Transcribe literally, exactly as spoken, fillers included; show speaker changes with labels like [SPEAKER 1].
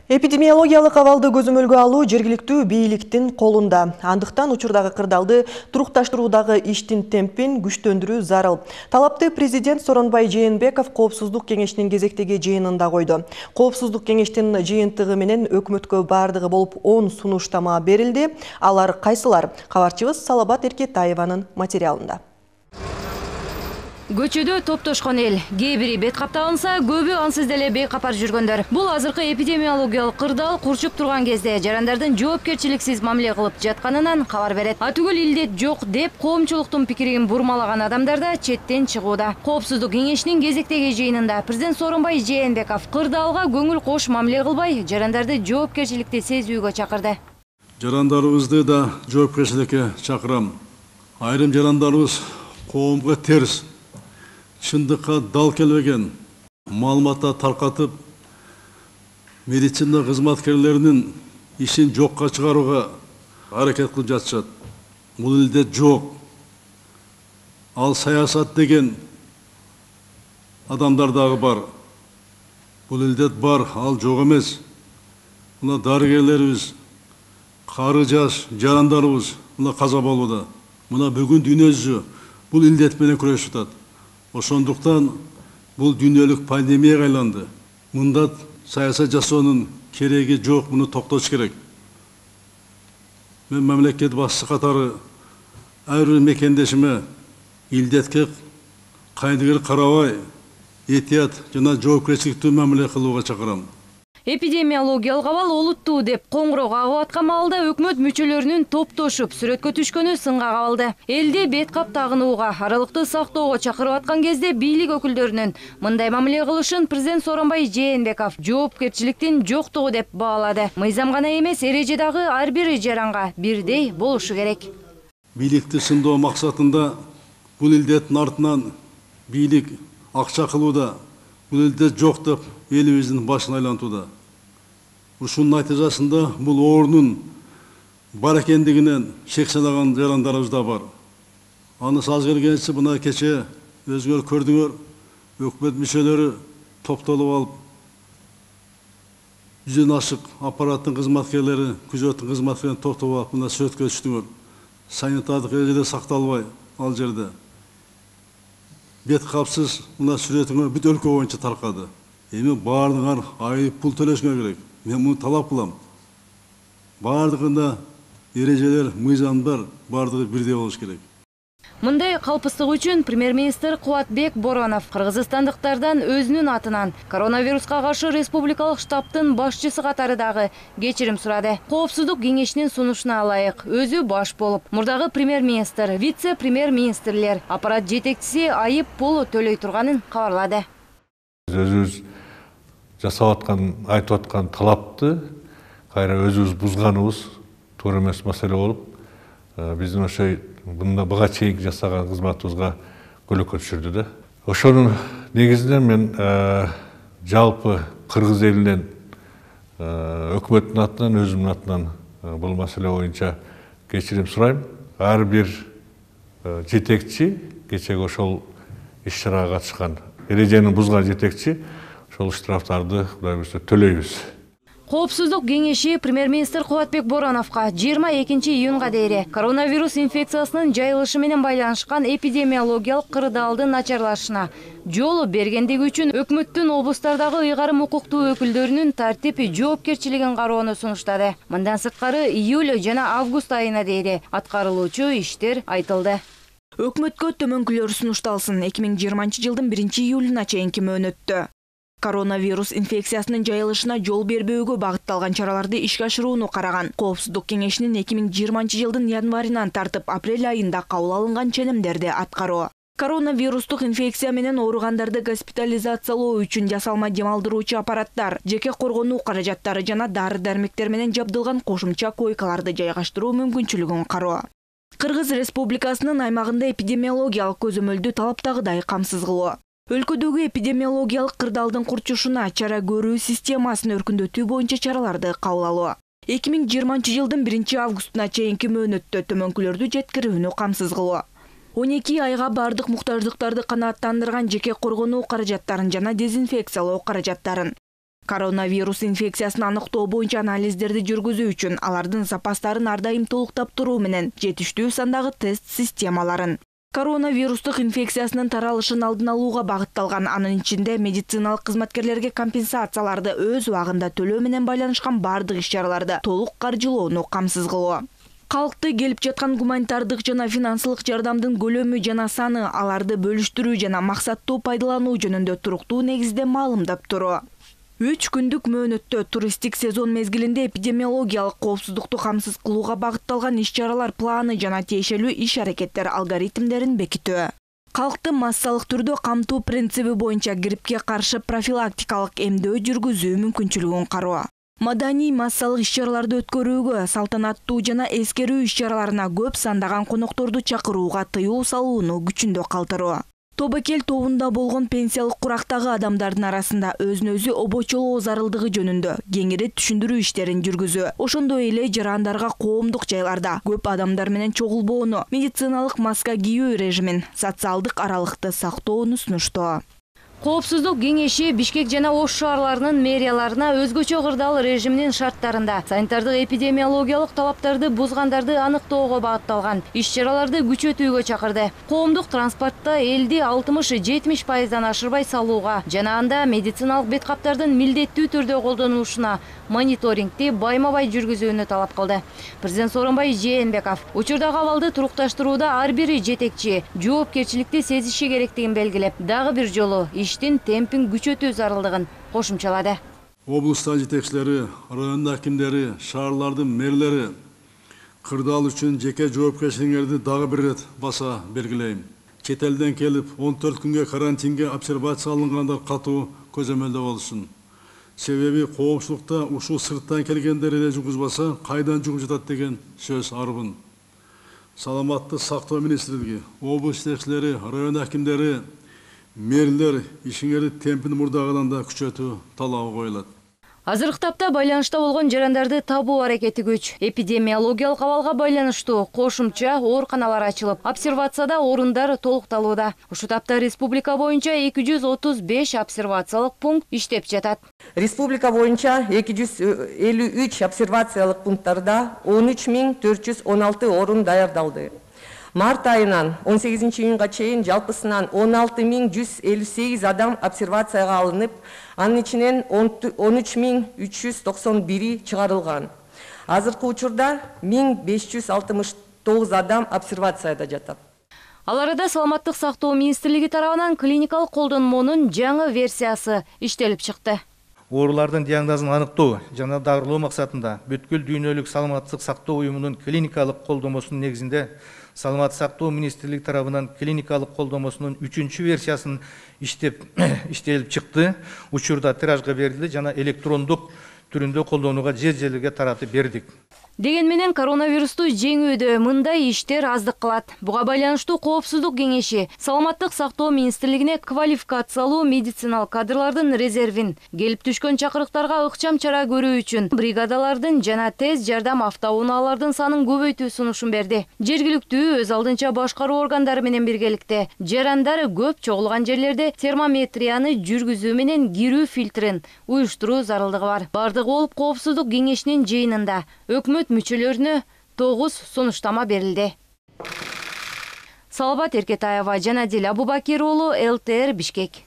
[SPEAKER 1] Эпидемиологиялык абалды көзөмөлгө алуу жергиликтүү бийликтин колунда. Андыктан учурдагы кырдаалды турукташтыруудагы иштин темпин күчтөндүрүү зарыл. Талапты президент Сооронбай Жээнбеков Коопсуздук кеңешинин кезектеги жыйынында койду. Коопсуздук кеңештин жыйынтыгы менен өкмөткө бардыгы болуп он сунуштама берилди. Алар кайсылар? Кабарчыбыз Салабат Эркетаеванын материалында.
[SPEAKER 2] Көчөдө топтошкон эл. Кээ бири бет капталынса, көбү ансыз деле бейкапар жүргөндөр. Бул азыркы эпидемиологиялык кырдаал курчуп турган кезде жарандардын жоопкерчиликсиз мамиле кылып жатканынан кабар берет. А түгүл илдет жок деп коомчулуктун пикирин бурмалаган адамдар да четтен чыгууда. Коопсуздук кеңешинин кезектеги жыйынында президент Сооронбай Жээнбеков кырдаалга көңүл кош мамиле кылбай, жарандарды жоопкерчиликти сезүүгө чакырды.
[SPEAKER 3] Жарандарыбызды да жоопкерчиликке чакырам. Айрым жарандарыбыз коомго терс, чындыкка дал келбеген маалыматтар таркатып, медицина кызматкерлеринин ишин жокко чыгарууга аракет кылып жатышат. Бул илдет жок. Ал саясат деген адамдар дагы бар. Бул илдет бар, ал жок эмес. Мына дарыгерлерибиз, кары жаш жарандарыбыз мына каза болууда. Мына бүгүн дүйнө жүзү бул илдет менен күрөшүп атат. Ошондуктан бул дүйнөлүк пандемияга айланды. Мында саясат жасоонун кереги жок, муну токтош керек. Мен мамлекет башчысы катары ар бир мекендешиме илдетке кайдыгер карабай, этият жана жоопкерчиликтүү мамиле кылууга чакырам.
[SPEAKER 2] Эпидемиологиялык абал олуттуу деп коңгуроо кагып аткан маалда өкмөт мүчөлөрүнүн топтошуп сүрөткө түшкөнү сынга кабылды. Элди бет кап тагынууга, аралыкты сактоого чакырып аткан кезде бийлик өкүлдөрүнүн мындай мамиле кылышын президент Сооронбай Жээнбеков жоопкерчиликтин жоктугу деп баалады. Мыйзам гана эмес, эреже дагы ар бир жаранга бирдей болушу керек.
[SPEAKER 3] Бийликти сындоо максатында бул илдеттин артынан бийлик акча кылууда, бул илдет жок деп элибиздин башын айлантууда. Ушунун натыйжасында бул оорунун бар экендигинен шек санаган жарандарыбыз да бар. Аны саз келгенче мына кече өзүңөр көрдүңөр, өкмөт мүчөлөрү топтолуп алып, жүздөн ашык аппараттын кызматкерлери, күзөттүн кызматкерлерин топтолуп алып, мына сүрөткө түштүңөр. Санитардык эрежелер сакталбай ал жерде. Бет капсыз мына сүрөтүңөр бүт өлкө боюнча таркады. Эми баардыгыңар айып пул төлөшүңөр керек. Мен муну талап кылам. Баардыгында эрежелер, мыйзамдар баардыгы бирдей болуш керек.
[SPEAKER 2] Мындай калпыстык үчүн премьер-министр Кубатбек Боронов кыргызстандыктардан өзүнүн атынан коронавируска каршы республикалык штабтын башчысы катары дагы кечирим сурады. Коопсуздук кеңешинин сунушуна ылайык өзү баш болуп, мурдагы премьер-министр, вице-премьер-министрлер, аппарат жетекчиси айып пул төлөй турганын кабарлады.
[SPEAKER 4] Өзүбүз жасап аткан, айтып аткан талапты кайра өзүбүз бузганыбыз туура эмес маселе болуп, биздин ошо бunda буга чейинки жасаган кызматыбызга көлөкө түшүрдү да. Ошонун негизинен мен жалпы кыргыз элинен өкмөттүн атынан, өзүмдүн атынан бул маселе боюнча кечирим сурайм. Ар бир жетекчи, кечеги ошол иш-чарага катышкан эрежени бузган жетекчи ошол штрафтарды кудай буюрса төлөйбүз.
[SPEAKER 2] Коопсуздук кеңеши премьер-министр Кубатбек Бороновго жыйырма экинчи июнга дейре коронавирус инфекциясынын жайылышы менен байланышкан эпидемиологиялык кырдаалдын начарлашына жол бергендиги үчүн өкмөттүн облустардагы ыйгарым укуктуу өкүлдөрүнүн тартип жоопкерчилигин кароону сунуштады. Мындан сырткары июль жана август айына дейре аткарылуучу иштер айтылды.
[SPEAKER 5] Өкмөткө төмөнкүлөр сунушталсын. эки миң жыйырманчы жылдын биринчи июлуна чейинки мөөнөттө коронавирус инфекциясынын жайылышына жол бербөөгө багытталган чараларды ишке ашырууну караган. Коопсуздук кеңешинин эки миң жыйырманчы жылдын январынан тартып апрель айында кабыл алынган ченемдерди аткаруу. Коронавирустук инфекция менен ооругандарды госпитализациялоо үчүн жасалма дем алдыруучу аппараттар, жеке коргонуу каражаттары жана дары-дармектер менен жабдылган кошумча койкаларды жайгаштыруу мүмкүнчүлүгүн кароо. Кыргыз Республикасынын аймагында эпидемиологиялык көзөмөлдү талаптагыдай камсыз кылуу. Өлкөдөгү эпидемиологиялык кырдаалдын курчушуна чара көрүү системасын өркүндөтүү боюнча чараларды кабыл алуу. эки миң жыйырманчы жылдын биринчи августуна чейинки мөөнөттө төмөнкүлөрдү жеткирүүнү камсыз кылуу. он эки айга бардык муктаждыктарды канааттандырган жеке коргонуу каражаттарын жана дезинфекциялоо каражаттарын. Коронавирус инфекциясын аныктоо боюнча анализдерди жүргүзүү үчүн алардын запастарын ар дайым толуктап туруу менен жетиштүү сандагы тест системаларын. Коронавирустук инфекциясынын таралышын алдын алууга багытталган, анын ичинде медициналык кызматкерлерге компенсацияларды өз убагында төлөө менен байланышкан бардык иш-чараларды толук каржылоону камсыз кылуу. Калкты келип жаткан гуманитардык жана финансылык жардамдын көлөмү жана саны, аларды бөлүштүрүү жана максаттуу пайдалануу жөнүндө туруктуу негизде маалымдап туруу. Үч күндүк мөөнөттө туристтик сезон мезгилинде эпидемиологиялык коопсуздукту камсыз кылууга багытталган иш-чаралар планы жана тиешелүү иш-аракеттер алгоритмдерин бекитүү. Калкты массалык түрдө камтуу принциби боюнча гриппке каршы профилактикалык эмдөө жүргүзүү мүмкүнчүлүгүн кароо. Маданий массалык иш-чараларды өткөрүүгө, салтанаттуу жана эскерүү иш-чараларына көп сандаган конокторду чакырууга тыюу салууну күчүндө калтыруу. Тобокел тобунда болгон пенсиялык курактагы адамдардын арасында өзүн өзү обочолоо зарылдыгы жөнүндө кеңири түшүндүрүү иштерин жүргүзүү, ошондой эле жарандарга коомдук жайларда көп адамдар менен чогулбоону, медициналык маска кийүү режимин, социалдык аралыкты сактоону сунуштоо.
[SPEAKER 2] Коопсуздук кеңеши Бишкек жана Ош шаарларынын мэрияларына өзгөчө кырдаал режиминин шарттарында санитардык эпидемиологиялык талаптарды бузгандарды аныктоого багытталган иш-чараларды күчөтүүгө чакырды. Коомдук транспортто элди алтымыш-жетимиш пайыздан ашырбай салууга жана анда медициналык бет каптардын милдеттүү түрдө колдонулушуна мониторингти байма-бай жүргүзүүнү талап кылды. Президент Сооронбай Жээнбеков учурдагы абалды турукташтырууда ар бир жетекчи жоопкерчиликти сезиши керектигин белгилеп, дагы бир жолу иштин темпин күчөтүү зарылдыгын кошумчалады.
[SPEAKER 3] Облустун жетекчилери, район акимдери, шаарлардын мэрлери кырдаал үчүн жеке жоопкерчилигиңерди дагы бир ирет баса белгилейм. Чет элден келип он төрт күнгө карантинге обсервация алынгандар катуу көзөмөлдө болушун. Себеби коомчулукта ушул сырттан келгендер эле жугузбаса, кайдан жугуп жатат деген сөз арбын. Саламаттык сактоо министрлиги, облус жетекчилери, район акимдери, мэрлер ишиңерди темпин мурдагыдан да күчөтүү талабы коюлат.
[SPEAKER 2] Азыркы тапта байланышта болгон жарандарды табуу аракети күч. Эпидемиологиялык абалга байланыштуу кошумча ооруканалар ачылып, обсервацияда орундар толукталууда. Ушу тапта республика боюнча эки жүз отуз беш обсервациялык пункт иштеп жатат.
[SPEAKER 6] Республика боюнча эки жүз элүү үч обсервациялык пункттарда он үч миң төрт жүз он алты орун даярдалды. Март айынан он сегизинчи июнга чейин жалпысынан он алты миң жүз элүү сегиз адам обсервацияга алынып, анын ичинен он үч миң үч жүз токсон бири чыгарылган. Азыркы учурда миң беш жүз алтымыш тогуз адам обсервацияда жатат.
[SPEAKER 2] Ал арада Саламаттык сактоо министрлиги тарабынан клиникалык колдонмонун жаңы версиясы иштелип чыкты.
[SPEAKER 7] Оорулардын диагнозун аныктоо жана дарылоо максатында бүткүл дүйнөлүк саламаттык сактоо уюмунун клиникалык колдомосунун негизинде Саламаттык сактоо министрлиги тарабынан клиникалык колдомосунун үчүнчү версиясын иштеп иштелип чыкты. Учурда тиражга берилди жана электрондук түрүндө колдонууга жер-жерлерге таратып бердик.
[SPEAKER 2] Деген менен коронавирусту жеңүүдө мындай иштер аздык кылат. Буга байланыштуу коопсуздук кеңеши Саламаттык сактоо министрлигине квалификациялуу медициналык кадрлардын резервин, келип түшкөн чакырыктарга ыкчам чара көрүү үчүн бригадалардын жана тез жардам автоунаалардын санын көбөйтүү сунушун берди. Жергиликтүү өз алдынча башкаруу органдары менен биргеликте жарандар көп чогулган жерлерде термометрияны жүргүзүү менен кирүү фильтрин уюштуруу зарылдыгы бар. Бардыгы болуп коопсуздук кеңешинин жыйынында өкмөт мүчөлөрүнө тогуз сунуштама берилди. Салабат Эркетаева, Жанадил Абубакир уулу, эл тэ эр Бишкек.